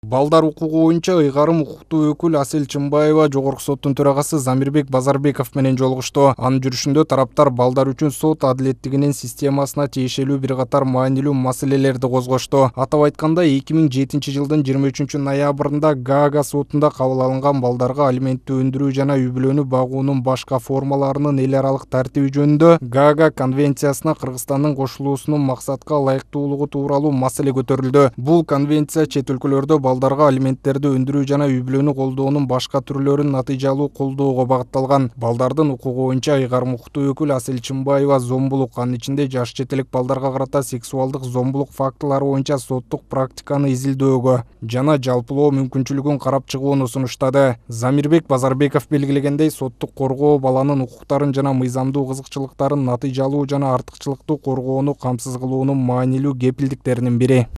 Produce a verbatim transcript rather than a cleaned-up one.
Балдар укугу боюнча ыйгарым укуктуу өкүл Асель Чымбаева Жогорку соттун төрагасы Замирбек Базарбеков менен жолугушту. Анын жүрүшүндө тараптар балдар үчүн сот адилеттигинин системасына тиешелүү бир катар маанилүү маселелерди козгошту. Атап айтканда, эки миң жетинчи жылдын жыйырма үчүнчү ноябрында Гаага сотунда кабыл алынган балдарга алиментти өндүрүү жана үй бүлөнү багуунун башка формаларынын эл аралык тартиби жөнүндө Гаага конвенциясына Кыргызстандын кошулуусунун максатка ылайыктуулугу тууралуу маселе көтөрүлдү. Бул конвенция чет өлкөлөрдө балдарга алименттерди өндүрүү жана үй бүлөнү колдоонун башка түрлөрүн натыйжалуу колдоого багытталган. Балдардын укугу боюнча ыйгарым укуктуу өкүл Асель Чымбаева зомбулук, анын ичинде жаш четелек балдарга карата сексуалдык зомбулук фактылары боюнча соттук практиканы изилдөөгө жана жалпылоо мүмкүнчүлүгүн карап чыгууну сунуштады. Замирбек Базарбеков белгилегендей, соттук коргоо баланын укуктарын жана мыйзамдуу кызыкчылыктарын натыйжалуу жана артыкчылыктуу коргоону камсыз кылуунун маанилүү кепилдиктеринин бири.